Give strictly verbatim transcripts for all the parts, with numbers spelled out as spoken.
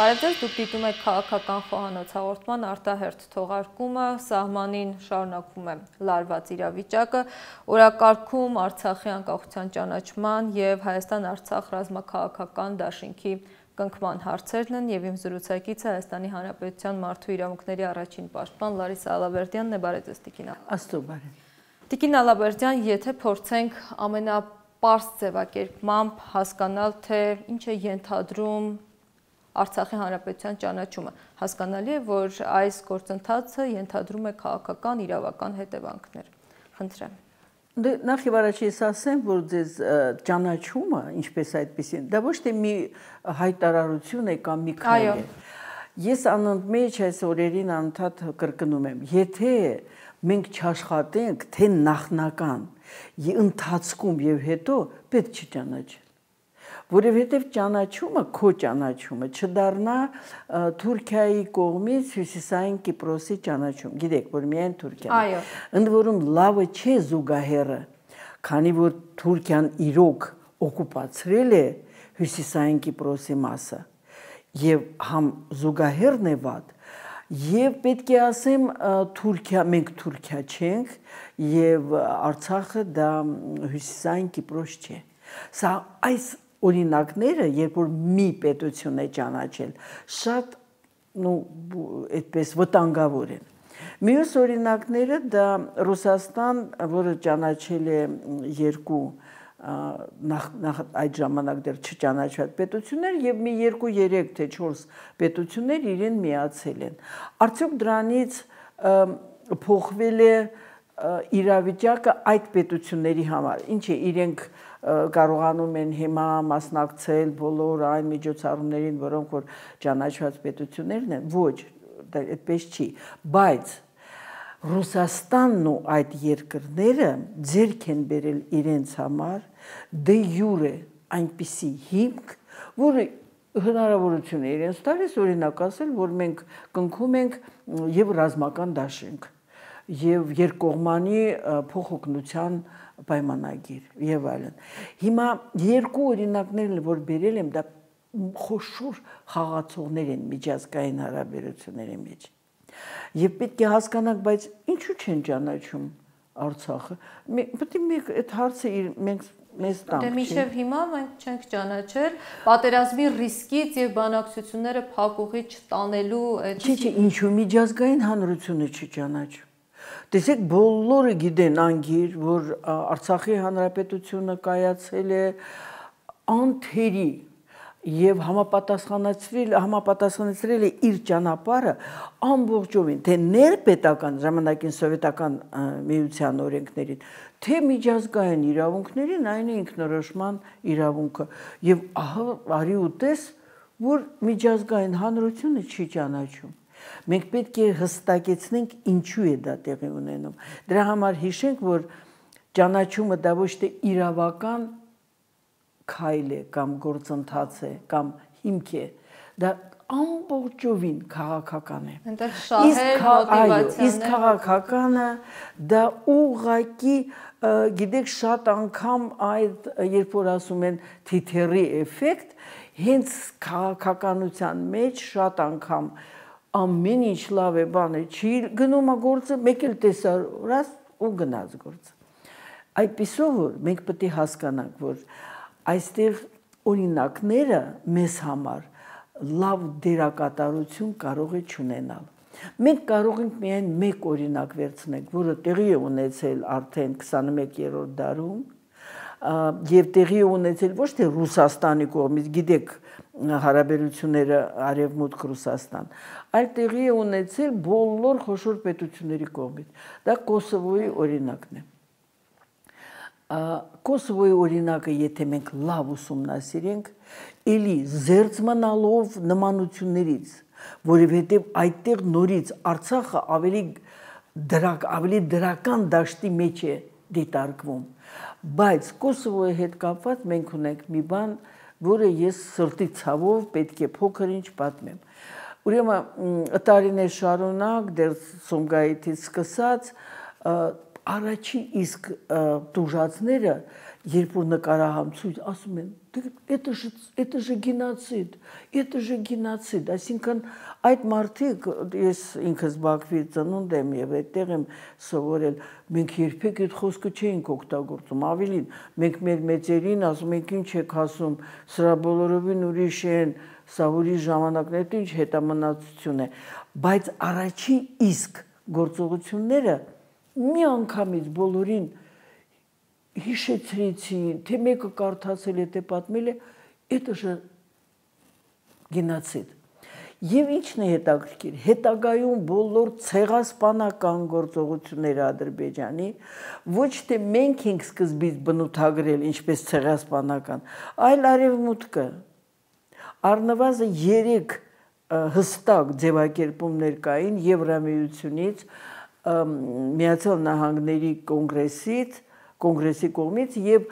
Բարև ձեզ, դուք դիտում եք քաղաքական խոհանոց հաղորդման արտահերթ թողարկումը, սահմանին շարունակվում է լարված իրավիճակը, օրակարգում Արցախի անկախության ճանաչման և Հայաստան-Արցախ ռազմաքաղաքական դաշինքի կնքման հարցերն են և իմ զրուցակիցը Հայաստանի Հանրապետության մարդու իրավունքների առաջին պաշտպան Լարիսա Ալավերդյանն է, բարև ձեզ տիկին։ Աստծո բարև։ Տիկին Ալավերդյան, եթե փորձենք ամենապարզ ձևակերպմամբ հասկանալ, թե ինչ է ենթադրում Արցախի Հանրապետության ճանաչումը, հասկանալի է, որ այս գործընթացը ենթադրում է քաղաքական իրավական հետևանքներ։ Խնդրեմ։ Նախ եւ առաջ ես ասեմ, որ ձեզ ճանաչումը, ինչպես այդպեսին, դա ոչ թե մի հայտարարություն է կամ մի քայլ է։ Ես անընդմեջ այս օրերին անդադ կրկնում եմ, եթե մենք չաշխատենք, թե նախնական ընթացքում եւ հետո պետք չի ճանաչել։ Որովհետև ճանաչումը, քո ճանաչումը չդառնա Թուրքիայի կողմից Հյուսիսային Կիպրոսի ճանաչում։ Գիտեք, որ միայն Թուրքիան։ Ընդ որում լավը չէ զուգահեռը, քանի որ Թուրքիան իրոք օկուպացրել է Հյուսիսային Կիպրոսի մասը, եւ համ զուգահեռն է վատ, եւ պետք է ասեմ Թուրքիա, մենք Թուրքիա չենք, եւ Արցախը դա Հյուսիսային Կիպրոս չէ։ Սա այս օրինակները, երբ որ մի պետություն է ճանաչել, շատ այդպես վտանգավոր են։ Մյուս օրինակները դա Ռուսաստան, որը ճանաչել է երկու նախ այդ ժամանակ դեռ չճանաչված պետություններ եւ մի երկու երեք թե չորս պետություններ իրեն միացել են։ Արդյոք դրանից փոխվել է իրավիճակը այդ պետությունների համար, ինչ է իրենք կարողանում են հիմա մասնակցել բոլոր այն միջոցառումներին, որոնք որ ճանաչված պետություններն են, ոչ, դա այդպես չի, բայց Ռուսաստանն ու այդ երկրները ձեռք են բերել իրենց համար դե յուրե այնպիսի հիմք, որը հնարավորություն է իրենց տալիս, օրինակ ասել, որ մենք կնքում ենք եւ ռազմական դաշինք, եւ երկկողմանի փոխօգնության պայմանագիր եւ այլն։ Հիմա երկու օրինակներն որ բերել եմ, դա խոշոր խաղացողներ են միջազգային հարաբերությունների մեջ։ Եվ պետք է հասկանանք, բայց ինչու չեն ճանաչում Արցախը։ Պետք է մենք այդ հարցը մենք մեզ տանք։ Դե մինչև հիմա մենք չենք ճանաչել պատերազմի ռիսկից եւ բանակցությունները փակուղի չտանելու այդ։ Չի, չի, ինչու միջազգային հանրությունը չի ճանաչում։ Տեսեք, բոլորը գիտեն անգիր, որ Արցախի Հանրապետությունը կայացել է անթերի եւ համապատասխանեցրել համապատասխանեցրել է իր ճանապարհը ամբողջովին, թե ներպետական ժամանակին սովետական միության օրենքներին, թե միջազգային իրավունքներին, այն է ինքնորոշման իրավունքը։ Եվ ահա արի ու տես, որ միջազգային հանրությունը չի ճանաչում։ Մենք պետք է հստակեցնենք ինչու է դա տեղի ունենում։ Դրա համար հիշենք, որ ճանաչումը դա ոչ թե իրավական քայլ է կամ գործընթաց է կամ հիմք է, դա ամբողջովին քաղաքական է։ Այնտեղ շահեր, մոտիվացիաներ։ Իսկ քաղաքականը դա ուղղակի, գիտեք, շատ անգամ այդ երբ որ ասում են թիթեռի էֆեկտ, հենց քաղաքականության մեջ շատ անգամ ամեն ինչ լավ է, բան է, չի գնում է գործը, մեկ էլ տեսարած ու գնաց գործը։ Այդպիսով որ մենք պետք է հասկանանք, որ այստեղ օրինակները մեզ համար լավ դերակատարություն կարող է չունենալ։ Մենք կարող ենք միայն մեկ օրինակ վերցնել, որը տեղի է ունեցել արդեն քսանմեկերորդ դարում եւ տեղի է ունեցել ոչ թե Ռուսաստանի կողմից, գիտեք, հարաբերությունները Արևմուտք Ռուսաստան, այլ տեղի է ունեցել բոլոր խոշոր պետությունների կողմից։ Դա Կոսովոյի օրինակն է։ Կոսովոյի օրինակը, եթե մենք լավ ուսումնասիրենք, էլի զերծ մնալով նմանություններից, որովհետև այդտեղ նորից Արցախը ավելի դրակ, ավելի դրական դաշտի մեջ է դիտարկվում։ Բայց Կոսովոյի հետ կապված մենք ունենք մի բան, որը ես սրտի ցավով պետք է փոքր ինչ պատմեմ։ Ուրեմն տարիներ շարունակ դեռ Սումգայիթից սկսած առաջին իսկ տուժածները, երբ որ նկարահանցույց ասում են, это же это же գենոցիդ, это же գենոցիդ, այսինքն այդ մարդիկ ես ինքս Բաքվի ծնունդ եմ եւ այդտեղ եմ սովորել, մենք երբեք այդ խոսքը չէինք օգտագործում, ավելին մենք մեր մեծերին ասում ենք ինչ եք ասում, սրա բոլորովին ուրիշ են, սա ուրիշ ժամանակներ, ինչ հետամնացություն է, բայց առաջի իսկ գործողությունները մի անգամից բոլորին հիշեցրեցին, թե մեկը կարդացել է, թե պատմել է, это же գենոցիդ։ Եվ ինչն է հետաքրքիր, հետագայում բոլոր ցեղասպանական գործողությունները Ադրբեջանի ոչ թե մենք ենք սկզբից բնութագրել ինչպես ցեղասպանական, այլ արևմուտքը առնվազն երեք հստակ ձևակերպումներ կային Եվրամիությունից, Միացյալ Նահանգների կոնգրեսից, կոնգրեսի կողմից եւ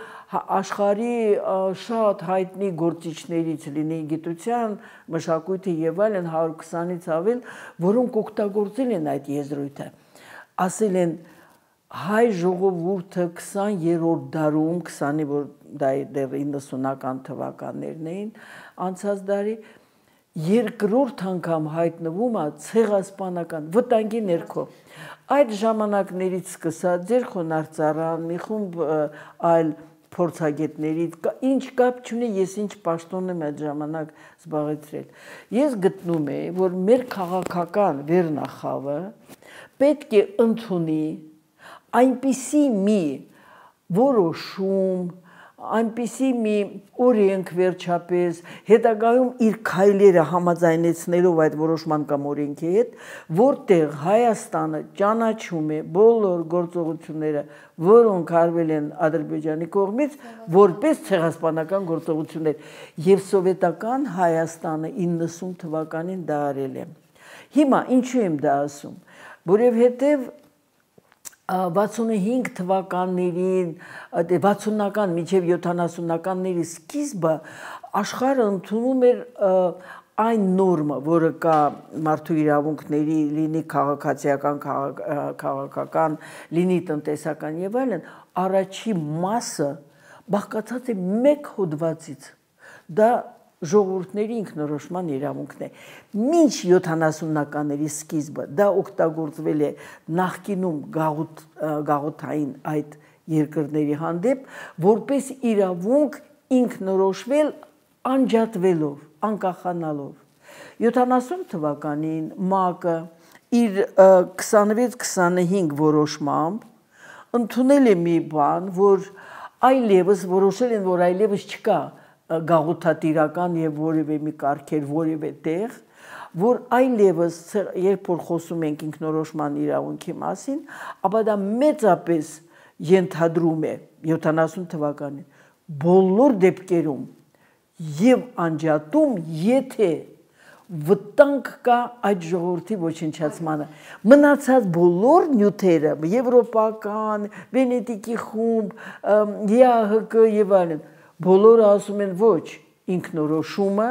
աշխարհի շատ հայտնի գործիչներից լինի գիտության, մշակույթի եւ այլն հարյուր քսանից ավել, որոնք օգտագործել են այդ եզրույթը։ Ասել են հայ ժողովուրդը քսաներորդ դարում, քսանի որ դա դեռ իննսունական թվականներն էին, անցած դարի երկրորդ անգամ հայտնվում է ցեղասպանական վտանգի ներքո։ Այդ ժամանակներից սկսած ձեր խոնարհծառան, մի խումբ այլ փորձագետներից, ինչ կապ չունի, ես ինչ պաշտոն եմ այդ ժամանակ զբաղեցրել։ Ես գտնում եմ, որ մեր քաղաքական վերնախավը պետք է ընդունի այնպիսի մի որոշում, այնպիսի մի օրենք վերջապես, հետագայում իր քայլերը համաձայնեցնելով այդ որոշման կամ օրենքի հետ, որտեղ Հայաստանը ճանաչում է բոլոր գործողությունները, որոնք արվել են Ադրբեջանի կողմից, որպես ցեղասպանական գործողություններ, եւ սովետական Հայաստանը իննսուն թվականին դա արել է։ Հիմա ինչու եմ դա ասում, որովհետեւ վաթսունհինգ թվականներին, վաթսունական մինչև յոթանասունականների սկիզբը աշխարհը ընդունում էր այն նորմը, որը կա մարդու իրավունքների, լինի քաղաքացիական, քաղաքական, լինի տնտեսական եւ այլն, առաջի մասը բաղկացած է մեկ հոդվածից։ Դա ժողովուրդների ինքնորոշման իրավունքն է։ Մինչ յոթանասունականների սկիզբը դա օգտագործվել է նախկինում գաղութ, գաղութային այդ երկրների հանդեպ, որպես իրավունք ինքնորոշվել անջատվելով, անկախանալով։ յոթանասուն թվականին ՄԱԿ-ը իր քսանվեց քսանհինգ որոշմամբ ընդունել է մի բան, որ այլևս որոշել են, որ այլևս չկա գաղութատիրական եւ որևէ մի կարգեր, որևէ տեղ, որ այլևս երբ որ խոսում ենք ինքնորոշման իրավունքի մասին, ապա դա մեծապես ենթադրում է յոթանասուն թվականին բոլոր դեպքերում եւ անջատում, եթե վտանգ կա այդ ժողովրդի ոչնչացմանը։ Մնացած բոլոր նյութերը, եվրոպական, Վենետիկի խումբ, ԵԱՀԿ եւ այլն, բոլորը ասում են ոչ, ինքնորոշումը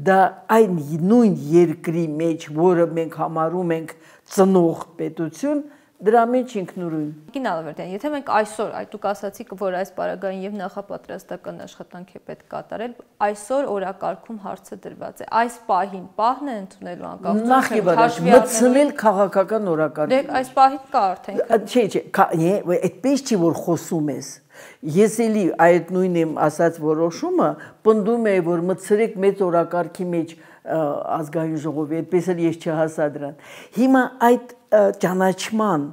դա այն նույն երկրի մեջ, որը մենք համարում ենք ծնող պետություն, դրա մեջ ինքնուրույն։ Գին Ալավերդյան, եթե մենք այսօր, այդ դուք ասացիք, որ այս պարագային եւ նախապատրաստական աշխատանք է պետք կատարել, այսօր օրակարգում հարցը դրված է։ Այս պահին պահն է ընդունելու անկախություն։ Նախ եւ առաջ մտցնել քաղաքական օրակարգ։ Դե այս պահին կա արդեն։ Չէ, չէ, այդպես չի որ խոսում ես։ Ես էլի այդ նույն եմ ասած որոշումը պնդում է, որ մտցրեք մեծ օրակարգի մեջ ազգային ժողովի, այդպես էլ ես չհասա դրան։ Հիմա այդ ճանաչման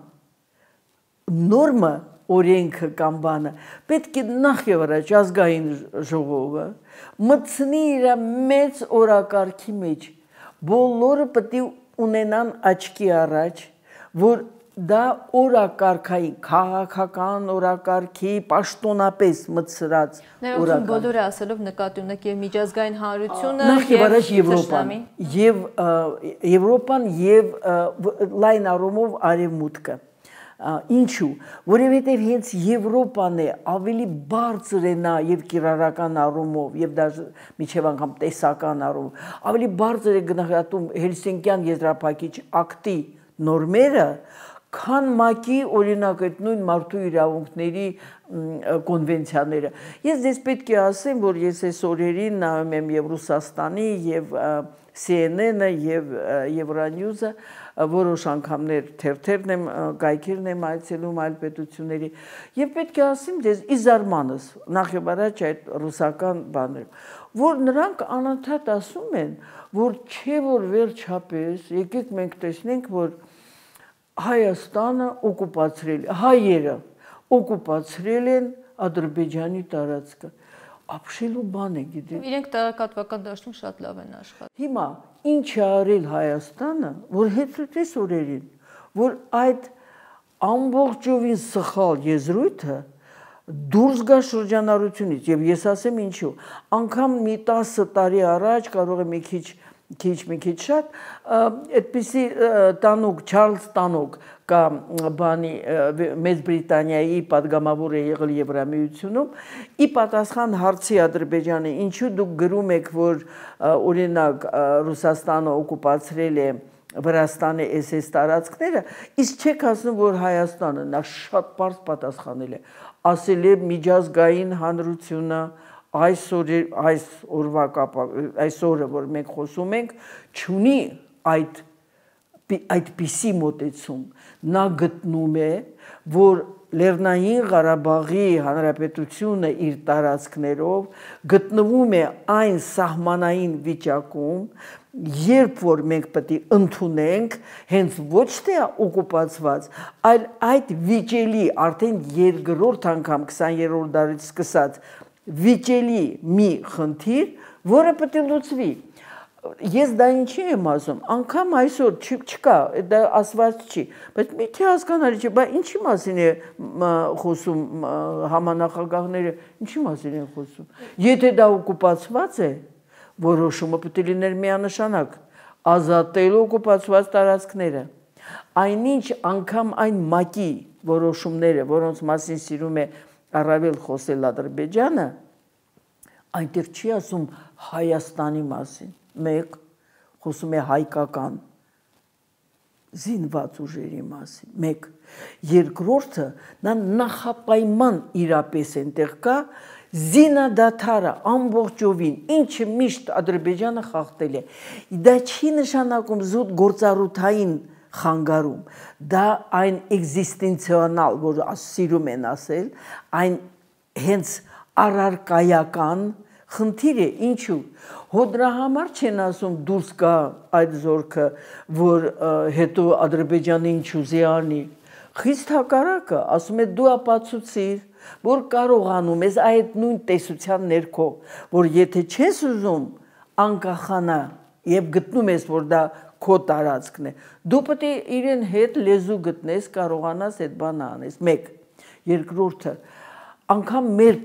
նորմը, օրենքը կամ բանը պետք է նախ եւ առաջ ազգային ժողովը մտցնի իր մեծ օրակարգի մեջ, բոլորը պետք է ունենան աչքի առաջ, որ դա օրակարգային, քաղաքական օրակարգի պաշտոնապես մտցրած օրակարգ։ Բոլորը ասելով նկատի ունեք եւ միջազգային հանրությունը նախ եւ առաջ Եվրոպան եւ Եվրոպան եւ լայն առումով արևմուտքը։ Ինչու, որովհետեւ հենց Եվրոպան է ավելի բարձր է նա եւ կիրառական առումով եւ դաժե միջև անգամ տեսական առումով ավելի բարձր է գնահատում Հելսինկյան եզրափակիչ ակտի նորմերը, քան ՄԱԿ-ի օրինակ այդ նույն մարդու իրավունքների կոնվենցիաները։ Ես դες պետք է ասեմ, որ ես այս օրերին նայում եմ եւ Ռուսաստանի եւ C N N-ը եւ Euronews-ը, որոշ անգամներ թերթերն եմ, գայքերն եմ այցելում այլ պետությունների եւ պետք է ասեմ դες իզարմանս նախ եւ առաջ այդ ռուսական բաները, որ նրանք անընդհատ ասում են, որ չէ որ վերջապես եկեք մենք տեսնենք, որ Հայաստանը օկուպացրել, հայերը օկուպացրել են Ադրբեջանի տարածքը։ Ապշելու բան է, գիտեք։ Իրենք տեղեկատվական դաշտում շատ լավ են աշխատում։ Հիմա ինչ է արել Հայաստանը, որ հետրտես օրերին, որ այդ ամբողջովին սխալ եզրույթը դուրս գա շրջանառությունից, եւ ես ասեմ ինչու, անգամ մի տասը տարի առաջ կարող է մի քիչ քիչ մի քիչ շատ այդպիսի տանուկ Չարլզ Տանոկ կա բանի Մեծ Բրիտանիայի падգամավոր է եղել Եվրամիությունում ի պատասխան հարցի Ադրբեջանը ինչու դուք գրում եք որ օրինակ Ռուսաստանը օկուպացրել է Վրաստանի էս էս տարածքները իսկ չեք ասում որ Հայաստանը նա շատ པարզ պատասխանել է ասել է միջազգային հանրությունը այսօր այս օրվա կապ այսօրը որ մենք խոսում ենք չունի այդ այդպիսի մոտեցում նա գտնում է որ Լեռնային Ղարաբաղի Հանրապետությունը իր տարածքներով գտնվում է այն սահմանային վիճակում երբ որ մենք պետք է ընդունենք հենց ոչ թե օկուպացված այլ այդ վիճելի արդեն երկրորդ անգամ քսաներորդ դարից սկսած վիճելի մի խնդիր, որը պետք է լուծվի։ Ես դա ինչի եմ ասում, անգամ այսօր չկա, դա ասված չի, բայց մի-թե հասկանալի չէ, բայց ինչի մասին է խոսում համանախագահները, ինչի մասին են խոսում։ Եթե դա օկուպացված է, որոշումը պետք է լիներ միանշանակ, ազատել օկուպացված տարածքները։ Այնինչ անգամ այն ՄԱԿ-ի որոշումները, որոնց մասին սիրում է առավել խոսել Ադրբեջանը, այնտեղ չի ասում Հայաստանի մասին, մեկ խոսում է հայկական զինված ուժերի մասին, մեկ երկրորդը նա նախապայման իրապես այնտեղ կա զինադադարը ամբողջովին, ինչը միշտ Ադրբեջանը խախտել է, դա չի նշանակում զուտ գործառութային խանգարում, դա այն էգզիստենցիոնալ, որ սիրում են ասել, այն հենց առարկայական խնդիր է, ինչու, հո դրա համար չեն ասում դուրս կա այդ զորքը, որ հետո Ադրբեջանը ինչ ուզի անի, խիստ հակառակը, ասում է դու ապացուցիր, որ կարողանում ես այդ նույն տեսության ներքո, որ եթե չես ուզում անկախանա եւ գտնում ես, որ դա քո տարածքն է, դու պետք է իրեն հետ լեզու գտնես, կարողանաս այդ բանը անես, մեկ, երկրորդը, անգամ մեր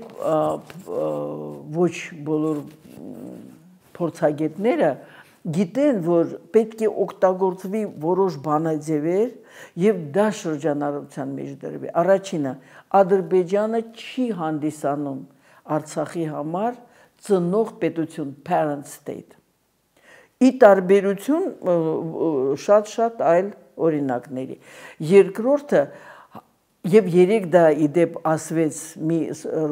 ոչ բոլոր փորձագետները գիտեն, որ պետք է օգտագործվի որոշ բանաձևեր եւ դա շրջանառության մեջ դրվի։ Առաջինը, Ադրբեջանը չի հանդիսանում Արցախի համար ծնող պետություն, parent state։ Ի տարբերություն շատ-շատ այլ օրինակների։ Երկրորդը, եւ երեք դա իդեպ ասվեց մի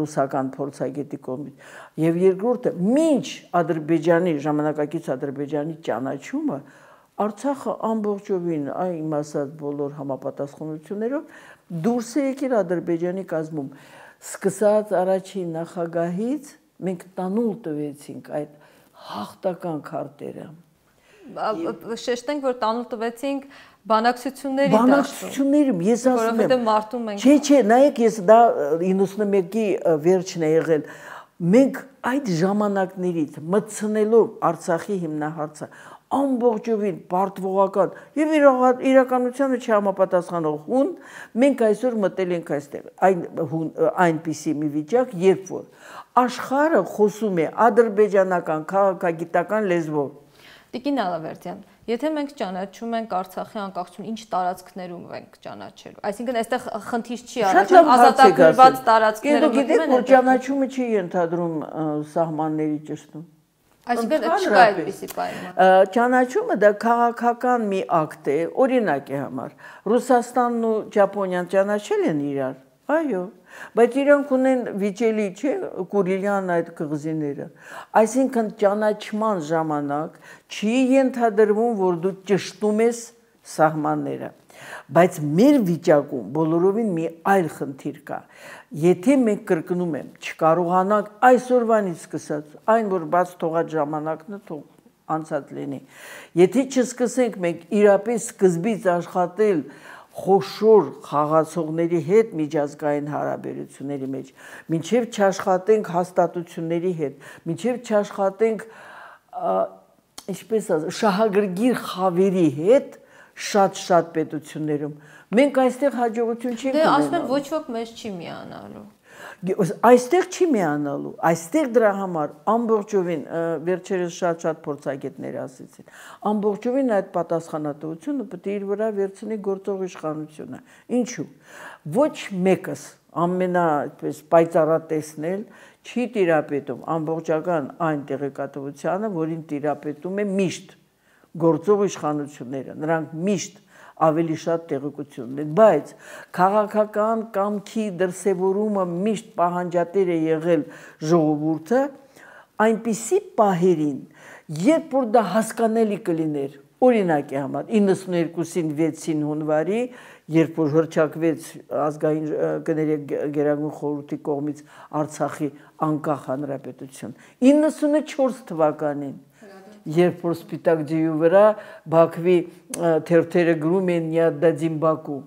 ռուսական փորձագետի կողմից, եւ երկրորդը, մինչ Ադրբեջանի, ժամանակակից Ադրբեջանի ճանաչումը, Արցախը ամբողջովին այն ասած բոլոր համապատասխանություններով դուրս է եկել Ադրբեջանի կազմում։ Սկսած առաջին նախագահից մենք տանուլ տվեցինք այդ հաղթական քարտերը։ Շեշտենք, որ տանուլ տվեցինք բանակցությունների դաշտում։ Բանակցություններում ես ասում եմ։ Որովհետև մարտում ենք։ Չէ, չէ, նայեք, ես դա իննսունմեկի վերջն է եղել։ Մենք այդ ժամանակներից մտցնելով Արցախի հիմնահարցը ամբողջովին պարտվողական եւ իրականությանը չհամապատասխանող հուն, մենք այսօր մտել ենք այստեղ։ Այն այնպիսի մի վիճակ, երբ որ աշխարհը խոսում է ադրբեջանական քաղաքագիտական լեզվով։ Տիկին Ալավերդյան, եթե մենք ճանաչում ենք Արցախի անկախություն, ինչ տարածքներում ենք ճանաչելու։ Այսինքն այստեղ խնդիր չի առաջանում ազատագրված տարածքները։ Գիտեք, որ ճանաչումը չի ենթադրում սահմանների ճշտում։ Այսինքն չկա այդպիսի պայման։ Ճանաչումը դա քաղաքական մի ակտ է, օրինակի համար։ Ռուսաստանն ու Ճապոնիան ճանաչել են իրար, այո, բայց իրանք ունեն վիճելի չէ Կուրիլյան այդ կղզիները։ Այսինքն ճանաչման ժամանակ չի ենթադրվում, որ դու ճշտում ես սահմանները։ Բայց մեր վիճակում բոլորովին մի այլ խնդիր կա։ Եթե մենք կրկնում եմ, չկարողանանք այսօրվանից սկսած, այն որ բաց թողած ժամանակն է, թող անցած լինի։ Եթե չսկսենք մենք իրապես սկզբից աշխատել խոշոր խաղացողների հետ միջազգային հարաբերությունների մեջ, մինչև չաշխատենք հաստատությունների հետ, մինչև չաշխատենք ինչպես ասած, շահագրգիռ խավերի հետ շատ-շատ պետություններում, մենք այստեղ հաջողություն չենք ունենալու։ Դե ասում են ոչ ոք մեզ չի միանալու։ Այստեղ չի միանալու, այստեղ դրա համար ամբողջովին վերջերս շատ-շատ փորձագետներ ասեցին, ամբողջովին այդ պատասխանատվությունը պետք է իր վրա վերցնի գործող իշխանությունը։ Ինչու՞։ Ոչ մեկս ամենա այդպես պայծառատեսնել չի տիրապետում ամբողջական այն տեղեկատվությանը, որին տիրապետում է միշտ գործող իշխանությունները, նրանք միշտ ավելի շատ տեղեկություն ունեն, բայց քաղաքական կամքի դրսևորումը միշտ պահանջատեր է եղել ժողովուրդը այնպիսի պահերին, երբ որ դա հասկանալի կլիներ, օրինակի համար իննսուններկուսին վեցին հունվարի, երբ որ հռչակվեց ազգային կներեք գերագույն խորհրդի կողմից Արցախի անկախ հանրապետություն, իննսունչորս թվականին երբ որ Սպիտակ ջիու վրա Բաքվի թերթերը գրում են «Նիադդադին Բաքու»,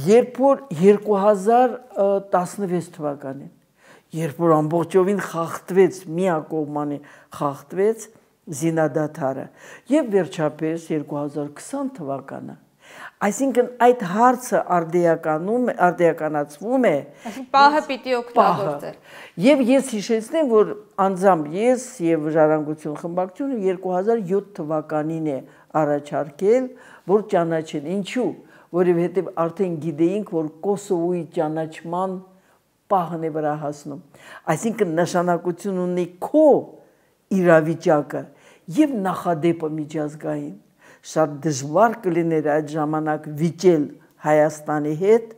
երբ որ երկու հազար տասնվեց թվականին, երբ որ ամբողջովին խախտվեց, միակողմանի խախտվեց զինադադարը, եւ վերջապես երկու հազար քսան թվականը, այսինքն այդ հարցը արդիականում արդիականացվում է, այսինքն պահը պիտի օգտագործել։ Եվ ես հիշեցնեմ, որ անձամբ ես եւ Ժառանգություն խմբակցությունը երկու հազար յոթ թվականին է առաջարկել, որ ճանաչեն։ Ինչու՞, որովհետեւ արդեն գիտեինք, որ Կոսովոյի ճանաչման պահն է վրա հասնում։ Այսինքն նշանակություն ունի քո իրավիճակը եւ նախադեպը միջազգային։ Շատ դժվար կլիներ այդ ժամանակ վիճել Հայաստանի հետ,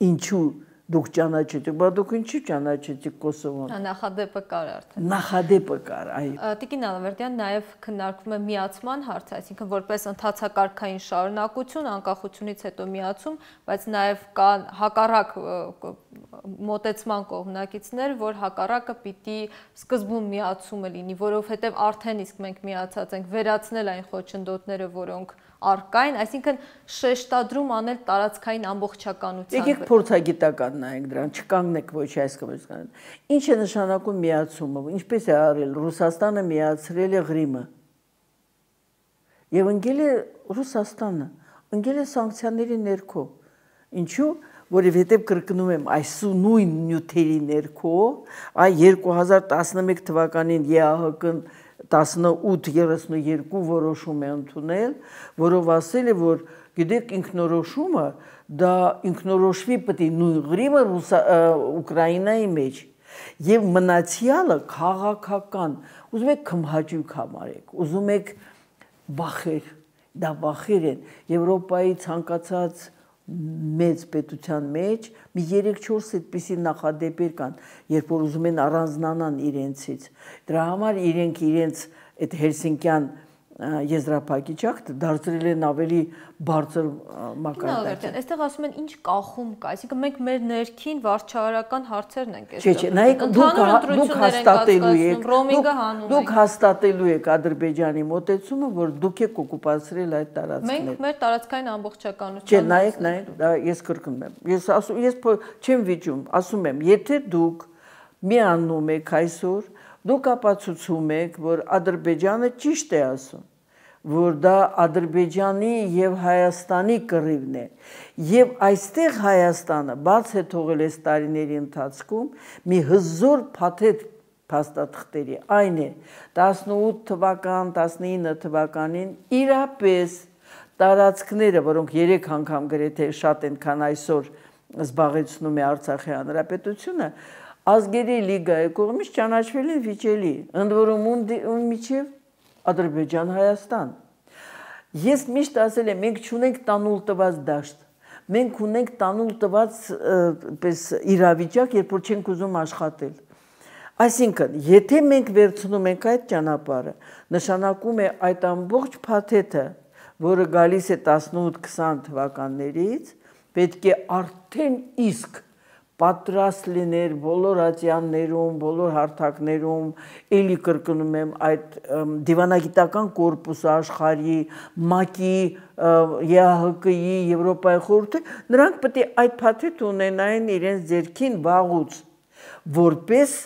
ինչու դուք ճանաչեցիք, բայց դուք ինչի ճանաչեցիք Կոսովոն։ Նախադեպը կար արդեն։ Նախադեպը կար, այո։ Տիկին Ալավերդյան նաև քննարկվում է միացման հարցը, այսինքն որպես ընթացակարգային շարունակություն, անկախությունից հետո միացում, բայց նաև կա հակառակ մոտեցման կողմնակիցներ, որ հակառակը պիտի սկզբում միացումը լինի, որովհետև արդեն իսկ մենք միացած ենք, վերացնել այն խոչընդոտները, որոնք առկային, այսինքն շեշտադրում անել տարածքային ամբողջականության։ Եկեք փորձագիտական նայենք դրան, չկանգնեք ոչ այս կողմից։ Ինչ է նշանակում միացումը, ինչպես է արել Ռուսաստանը միացրել է Ղրիմը։ Եվ ընկել է Ռուսաստանը, ընկել է սանկցիաների ներքո։ Ինչու՞, որովհետև կրկնում եմ, այս նույն նյութերի ներքո, այ երկու հազար տասնմեկ թվականին ԵԱՀԿ-ն տասնութ երեսունյոթ որոշում է ընդունել, որով ասել է, որ գիտեք ինքնորոշումը դա ինքնորոշվի պետք է նույն Ղրիմը Ուկրաինայի մեջ եւ մնացյալը քաղաքական, ուզում եք քմհաճույք համարեք, ուզում եք վախեր, դա վախեր են Եվրոպայի ցանկացած մեծ պետության մեջ մի երեք-չորս այդպիսի նախադեպեր կան, երբ որ ուզում են առանձնանան իրենցից։ Դրա համար իրենք իրենց այդ հելսինկյան եզրափակիչակը դարձրել են ավելի բարձր մակարդակի։ Այստեղ ասում են ինչ կախում կա, այսինքն մենք մեր ներքին վարչահարական հարցերն ենք այստեղ։ Չէ, նայեք, դուք հաստատելու եք, դուք հաստատելու եք Ադրբեջանի մոտեցումը, որ դուք եք օկուպացրել այդ տարածքները։ Մենք մեր տարածքային ամբողջականության։ Չէ, նայեք, նայեք, դա ես կրկնում եմ։ Ես ասում, ես չեմ վիճում, ասում եմ, եթե դուք միանում եք այսօր, դուք ապացուցում եք, որ Ադրբեջանը ճիշտ է ասում, որ դա Ադրբեջանի եւ Հայաստանի կռիվն է, եւ այստեղ Հայաստանը բաց է թողել այս տարիների ընթացքում մի հզոր փաթեթ փաստաթղթերի, այն է տասնութ թվական, տասնինը թվականին իրապես տարածքները, որոնք երեք անգամ գրեթե շատ են, քան այսօր զբաղեցնում է Արցախի հանրապետությունը, Ազգերի լիգայի կողմից ճանաչվել են վիճելի, ընդ որում ում միջև Ադրբեջան, Հայաստան։ Ես միշտ ասել եմ, մենք չունենք տանուլ տված դաշտ, մենք ունենք տանուլ տված պես իրավիճակ, երբ որ չենք ուզում աշխատել։ Այսինքն, եթե մենք վերցնում ենք այդ ճանապարհը, նշանակում է այդ ամբողջ փաթեթը, որը գալիս է տասնութ-քսան թվականներից, պետք է արդեն իսկ պատրաստ լիներ բոլոր ատյաններում, բոլոր հարթակներում, էլի կրկնում եմ այդ դիվանագիտական կորպուսը աշխարհի, ՄԱԿ-ի, ԵԱՀԿ-ի, Եվրոպայի խորհրդի, նրանք պետք է այդ փաթեթը ունենային իրենց ձեռքին վաղուց, որպես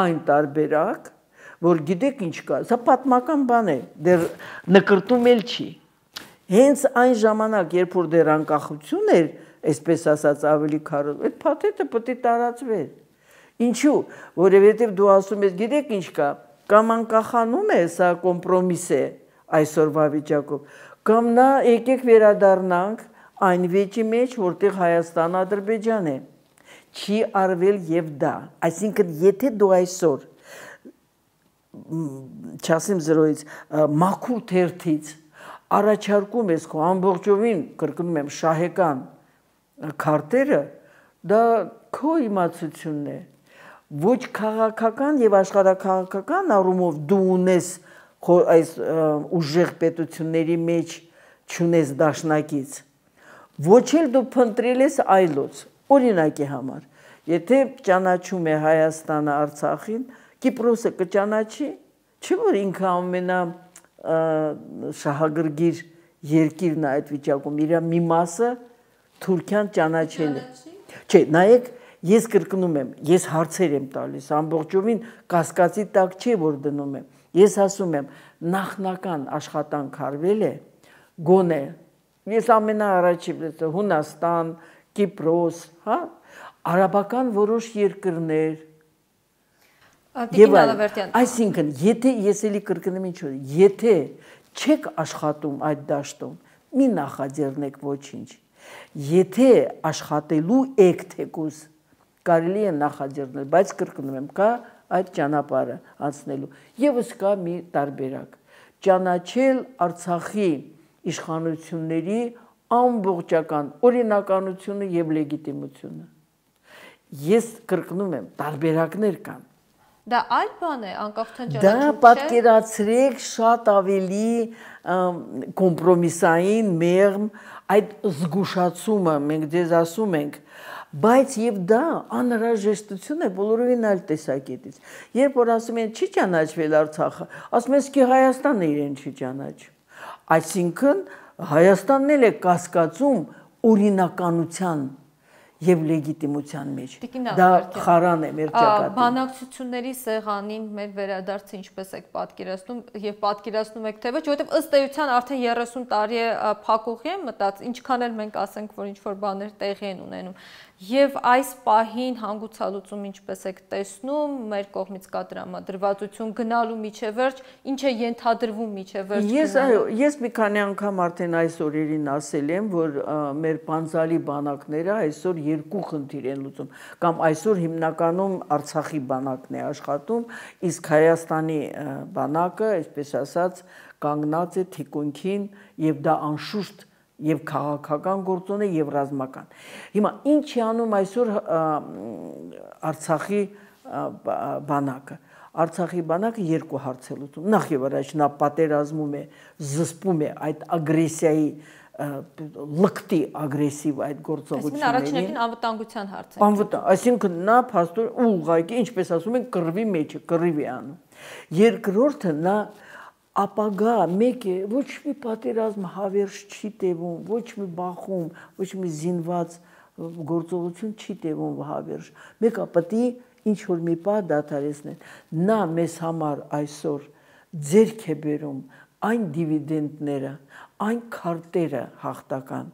այն տարբերակ, որ գիտեք ինչ կա, սա պատմական բան է, դեռ նկրտում էլ չի։ Հենց այն ժամանակ, երբ որ դեռ անկախություն էր, այսպես ասած ավելի քարոզ, այդ փաթեթը պետք է տարածվեր։ Ինչու՞, որովհետև դու ասում ես, գիտեք ինչ կա, կամ անկախանում է, սա կոմպրոմիս է այսօրվա վիճակով, կամ նա եկեք վերադառնանք այն վեճի մեջ, որտեղ Հայաստան, Ադրբեջան է։ Չի արվել եւ դա։ Այսինքն, եթե դու այսօր չասեմ զրոյից, մաքուր թերթից առաջարկում ես քո ամբողջովին, կրկնում եմ, շահեկան քարտերը, դա քո իմացությունն է, ոչ քաղաքական եւ աշխարհաքաղաքական առումով դու ունես այս ուժեղ պետությունների մեջ չունես դաշնակից, ոչ էլ դու փնտրել ես այլոց, օրինակի համար, եթե ճանաչում է Հայաստանը Արցախին, Կիպրոսը կճանաչի, չէ՞ որ ինքը ամենա շահագրգիռ երկիրն է այդ վիճակում, իր մի մասը Թուրքիան ճանաչել է։ Չէ, նայեք, ես կրկնում եմ, ես հարցեր եմ տալիս, ամբողջովին կասկածի տակ չէ, որ դնում եմ։ Ես ասում եմ, նախնական աշխատանք արվել է, գոնե, ես ամենաառաջի Հունաստան, Կիպրոս, հա, արաբական որոշ երկրներ, այսինքն, եթե ես էլի կրկնում ինչ որ, եթե չեք աշխատում այդ դաշտում, մի նախաձեռնեք ոչինչ։ Եթե աշխատելու եք թեկուզ, կարելի է նախաձեռնել, բայց կրկնում եմ, կա այդ ճանապարհը անցնելու։ Եվս կա մի տարբերակ, ճանաչել Արցախի իշխանությունների ամբողջական օրինականությունը եւ լեգիտիմությունը։ Ես կրկնում եմ, տարբերակներ կան։ Դա այլ բան է, անկախության ճանաչում չէ։ Դա պատկերացրեք շատ ավելի կոմպրոմիսային, մեղմ, այդ զգուշացումը մենք ձեզ ասում ենք, բայց եւ դա անհրաժեշտություն է բոլորովին այլ տեսակետից։ Երբ որ ասում են չի ճանաչվել Արցախը, ասում են իսկ Հայաստանն է իրեն չի ճանաչում։ Այսինքն Հայաստանն էլ է կասկածում օրինականության եւ լեգիտիմության մեջ։ Դա խարան է մեր ճակատին։ Բանակցությունների սեղանին մեր վերադարձը ինչպես եք պատկերացնում եւ պատկերացնում եք թե ոչ, որովհետեւ ըստ էության արդեն երեսուն տարի է փակուղի եմ մտած, ինչքան էլ մենք ասենք, որ ինչ որ բաներ տեղի են ունենում։ Եվ այս պահին հանգուցալուծում ինչպես եք տեսնում, մեր կողմից կա տրամադրվածություն գնալու միջևերջ, ինչ է ենթադրվում միջևերջ գնալու։ Ես այո, ես մի քանի անգամ արդեն այս օրերին ասել եմ, որ մեր պանձալի բանակները այսօր երկու խնդիր են լուծում, կամ այսօր հիմնականում Արցախի բանակն է աշխատում, իսկ Հայաստանի բանակը, այսպես ասած, կանգնած է թիկունքին եւ դա անշուշտ եւ քաղաքական գործոն է եւ ռազմական։ Հիմա ինչ է անում այսօր Արցախի բանակը։ Արցախի բանակը երկու հարց է լուծում։ Նախ եւ առաջ նա պատերազմում է, զսպում է այդ ագրեսիայի լկտի ագրեսիվ այդ գործողություններին։ Այսինքն առաջին անվտանգության հարց է։ Անվտանգ, այսինքն նա փաստոր ուղղակի, ինչպես ասում են, կռվի մեջ է, կռիվ է անում։ Երկրորդը նա ապագա մեկ է, ոչ մի պատերազմ հավերժ չի տևում, ոչ մի բախում, ոչ մի զինված գործողություն չի տևում հավերժ։ Մեկը պետք է ինչ որ մի պահ դադարեցնել։ Նա մեզ համար այսօր ձեռք է բերում այն դիվիդենդները, այն քարտերը հաղթական,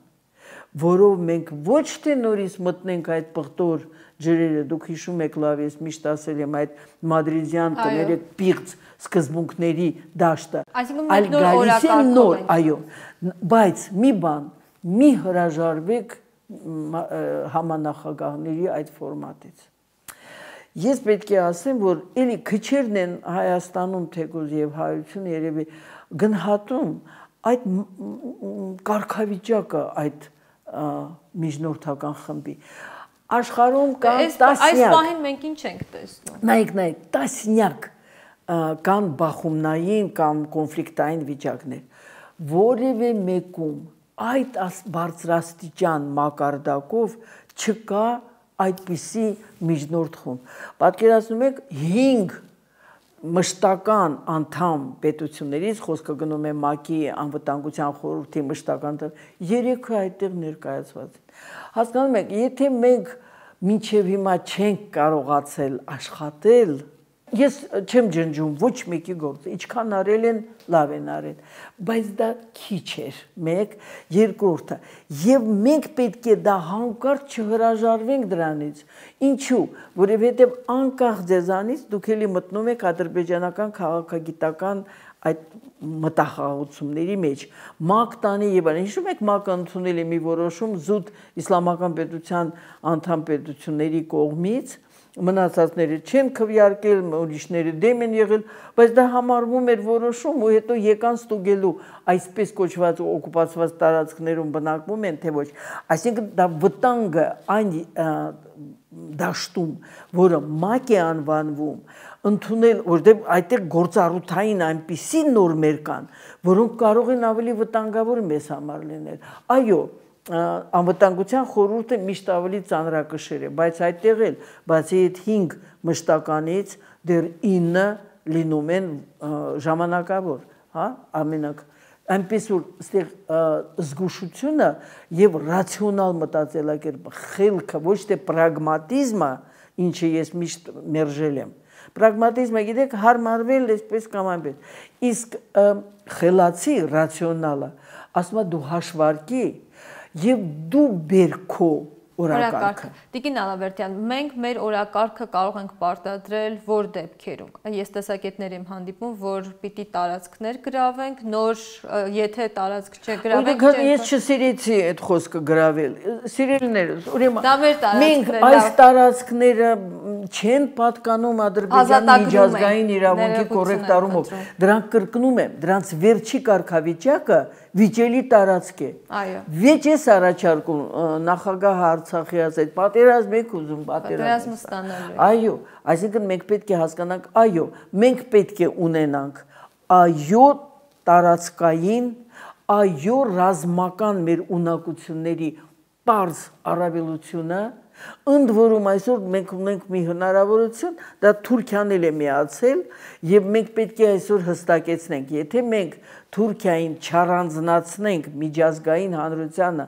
որով մենք ոչ թե նորից մտնենք այդ պղտոր ջրերը, դուք հիշում եք լավ, ես միշտ ասել եմ այդ մադրիդյան կներեք պիղծ սկզբունքների դաշտը, այլ գալիս է նոր, այո, բայց մի բան, մի հրաժարվեք համանախագահների այդ ֆորմատից։ Ես պետք է ասեմ, որ էլի քչերն են Հայաստանում թեկուզ եւ հայությունը երևի գնահատում այդ կարգավիճակը այդ միջնորդական խմբի աշխարհում կան տասնյակ այս պահին մենք ինչ ենք տեսնում նայեք նայեք տասնյակ կան բախումնային կամ կոնֆլիկտային վիճակներ որևէ մեկում այդ բարձրաստիճան մակարդակով չկա այդպիսի միջնորդ խումբ պատկերացնում եք հինգ մշտական անդամ պետություններից խոսքը գնում է ՄԱԿ-ի անվտանգության խորհրդի մշտական երեքը այդտեղ ներկայացված են հասկանում եք եթե մենք մինչև հիմա չենք կարողացել աշխատել ես չեմ ջնջում ոչ մեկի գործը ինչքան արել են լավ են արել բայց դա քիչ էր մեկ երկրորդը եւ մենք պետք է դա հանկարծ չհրաժարվենք դրանից ինչու որովհետեւ անկախ ձեզանից դուք էլի մտնում եք ադրբեջանական քաղաքագիտական այդ մտախաղացումների մեջ ՄԱԿ տանի եւ այլն հիշում եք ՄԱԿ-ը ընդունել է մի որոշում զուտ իսլամական պետության անդամ պետությունների կողմից մնացածները չեն քվեարկել, ուրիշները դեմ են եղել, բայց դա համարվում էր որոշում ու հետո եկան ստուգելու այսպես կոչված օկուպացված տարածքներում բնակվում են թե ոչ։ Այսինքն դա վտանգը այն դաշտում, որը ՄԱԿ է անվանվում, ընդունել, որտեղ այդտեղ գործառութային այնպիսի նորմեր կան, որոնք կարող են ավելի վտանգավոր մեզ համար լինել։ Այո, անվտանգության խորհուրդը միշտ ավելի ծանրակշիռ է, բայց այդտեղ էլ բացի այդ հինգ մշտականից դեռ ինը լինում են ժամանակավոր, հա, ամենակ այնպես որ այստեղ զգուշությունը եւ ռացիոնալ մտածելակերպը, խելքը, ոչ թե պրագմատիզմը, ինչը ես միշտ մերժել եմ։ Պրագմատիզմը գիտեք հարմարվել այսպես կամ այնպես, իսկ խելացի ռացիոնալը ասում է դու հաշվարկի եւ դու բերքո օրակարգը Տիկին Ալավերդյան մենք մեր օրակարգը կարող ենք պարտադրել որ դեպքերում ես տեսակետներ եմ հանդիպում որ պիտի տարածքներ գրավենք նոր եթե տարածք չգրավենք ես չսիրեցի այդ խոսքը գրավել սիրելիներս ուրեմն մենք մենք այս տարածքները չեն պատկանում Ադրբեջանի միջազգային իրավունքի կոռեկտարումով դրանք կրկնում եմ դրանց վերջի կարգավիճակը վիճելի տարածք է այո վեճ է առաջարկում նախագահ Արցախի ասել պատերազմ եք ուզում պատերազմ ստանալու այո այսինքն մենք պետք է հասկանանք այո մենք պետք է ունենանք այո տարածքային այո ռազմական մեր ունակությունների պարզ առավելությունը ընդ որում այսօր մենք ունենք մի հնարավորություն դա Թուրքիան էլ է միացել եւ մենք պետք է այսօր հստակեցնենք եթե մենք Թուրքիային չառանձնացնենք միջազգային հանրությանը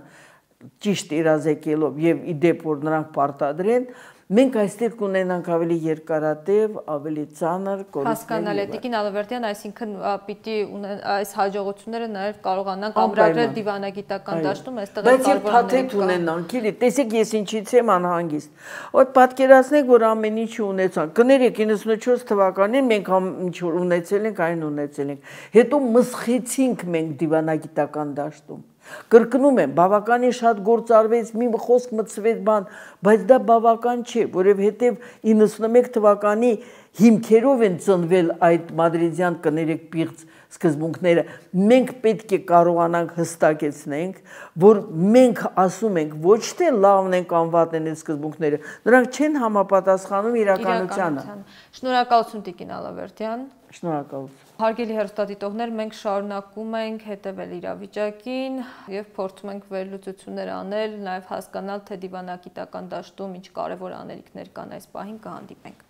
ճիշտ իրազեկելով եւ իդեպ որ նրանք պարտադրեն մենք այստեղ կունենանք ավելի երկարատև, ավելի ծանր կորուստներ։ Հասկանալի է, Տիկին Ալավերդյան, այսինքն պիտի այս հաջողությունները նաև կարողանանք ամրագրել դիվանագիտական դաշտում, այստեղ էլ կարողանանք ունենանք, էլի, տեսեք ես ինչից եմ անհանգիստ։ Ոդ պատկերացնեք, որ ամեն ինչ ունեցանք։ Կներեք իննսունչորս թվականին մենք ինչ որ ունեցել ենք, այն ունեցել ենք։ Հետո մսխեցինք մենք դիվանագիտական դաշտում։ Կրկնում եմ, բավականին շատ գործ արվեց, մի խոսք մտցվեց բան, բայց դա բավական չէ, որովհետև իննսունմեկ թվականի հիմքերով են ծնվել այդ մադրիդյան կներեք պիղծ սկզբունքները։ Մենք պետք է կարողանանք հստակեցնենք, որ մենք ասում ենք ոչ թե լավն են կամ վատն են այդ սկզբունքները, նրանք չեն համապատասխանում իրականությանը։ Շնորհակալություն Տիկին Ալավերդյան։ Շնորհակալություն։ Հարգելի հեռուստադիտողներ, մենք շարունակում ենք հետևել իրավիճակին եւ փորձում ենք վերլուծություններ անել, նաեւ հասկանալ, թե դիվանագիտական դաշտում ինչ կարեւոր անելիքներ կան այս պահին կհանդիպենք։